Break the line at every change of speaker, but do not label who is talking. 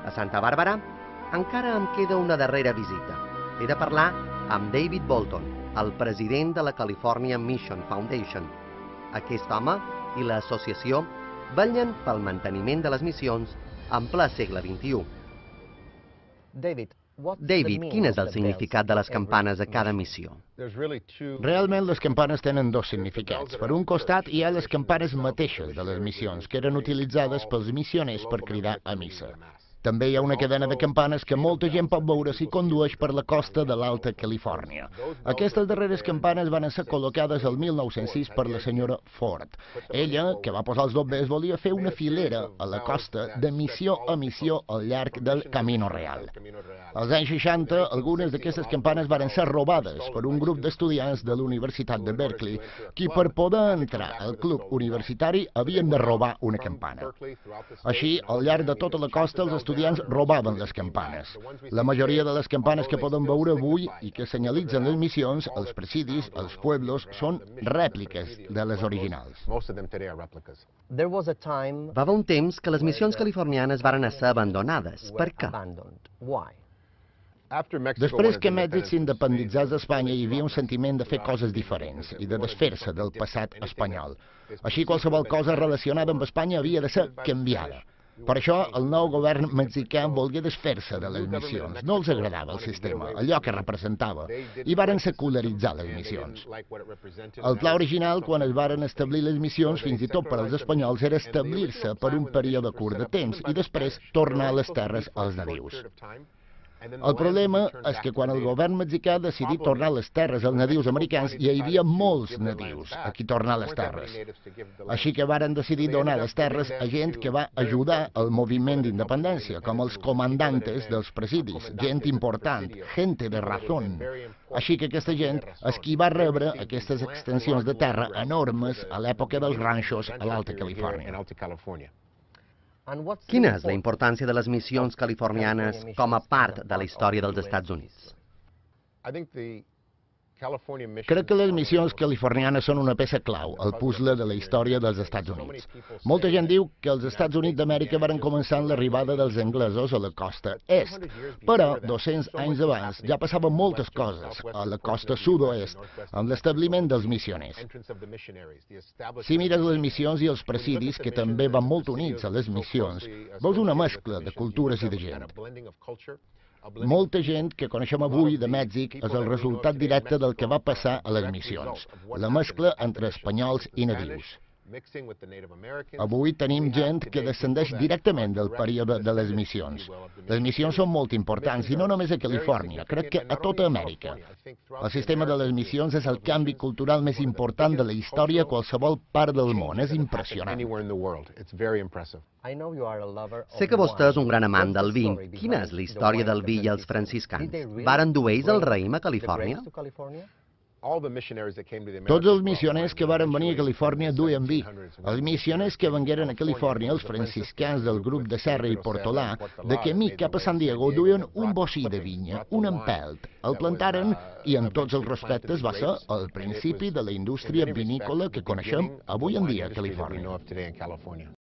A Santa Bàrbara encara em queda una darrera visita. He de parlar amb David Bolton, el president de la California Mission Foundation. Aquest home i l'associació vetllen pel manteniment de les missions en ple segle XXI. David, quin és el significat de les campanes a cada missió?
Realment les campanes tenen dos significats. Per un costat hi ha les campanes mateixes de les missions, que eren utilitzades pels missioners per cridar a missa. També hi ha una cadena de campanes que molta gent pot veure si condueix per la costa de l'Alta Califòrnia. Aquestes darreres campanes van ser col·locades el 1906 per la senyora Ford. Ella, que va posar els bombers, volia fer una filera a la costa de missió a missió al llarg del Camino Real. Als anys 60, algunes d'aquestes campanes van ser robades per un grup d'estudiants de la Universitat de Berkeley, qui per poder entrar al club universitari havien de robar una campana. Així, al llarg de tota la costa, els estudiants robaven les campanes. La majoria de les campanes que poden veure avui i que senyalitzen les missions, els presidis, els pueblos, són rèpliques de les originals.
Va haver un temps que les missions californianes varen ser abandonades. Per què?
Després que Mèxic s'independitzés d'Espanya, hi havia un sentiment de fer coses diferents i de desfer-se del passat espanyol. Així, qualsevol cosa relacionada amb Espanya havia de ser canviada. Per això, el nou govern mexicà volgué desfer-se de les missions. No els agradava el sistema, allò que representava, i varen secularitzar les missions. El pla original, quan es varen establir les missions, fins i tot per als espanyols, era establir-se per un període curt de temps i després tornar a les terres als nadius. El problema és que quan el govern mexicà decidí tornar les terres als nadius americans, hi havia molts nadius a qui tornar les terres. Així que varen decidir donar les terres a gent que va ajudar al moviment d'independència, com els comandantes dels presidis, gent important, gente de razón. Així que aquesta gent és qui va rebre aquestes extensions de terra enormes a l'època dels ranxos a l'Alta Califòrnia.
Quina és la importància de les missions californianes com a part de la història dels Estats Units?
Crec que les missions californianes són una peça clau al puzzle de la història dels Estats Units. Molta gent diu que els Estats Units d'Amèrica van començar amb l'arribada dels anglesos a la costa est, però 200 anys abans ja passaven moltes coses a la costa sud-oest amb l'establiment dels missioners. Si mires les missions i els presidis, que també van molt units a les missions, veus una mescla de cultures i de gent. Molta gent que coneixem avui de Mèxic és el resultat directe del que va passar a les missions, la mescla entre espanyols i nadius. Avui tenim gent que descendeix directament del període de les missions. Les missions són molt importants, i no només a Califòrnia, crec que a tota Amèrica. El sistema de les missions és el canvi cultural més important de la història a qualsevol part del món. És impressionant.
Sé que vostè és un gran amant del vi. Quina és la història del vi i els franciscans? Varen dur ells el raïm a Califòrnia?
Tots els missioners que varen venir a Califòrnia duien vi. Els missioners que vengueren a Califòrnia, els franciscans del grup de Serra i Portolà, de camí cap a San Diego, duien un bocí de vinya, un empelt. El plantaren i, amb tots els respectes, va ser el principi de la indústria vinícola que coneixem avui en dia a Califòrnia.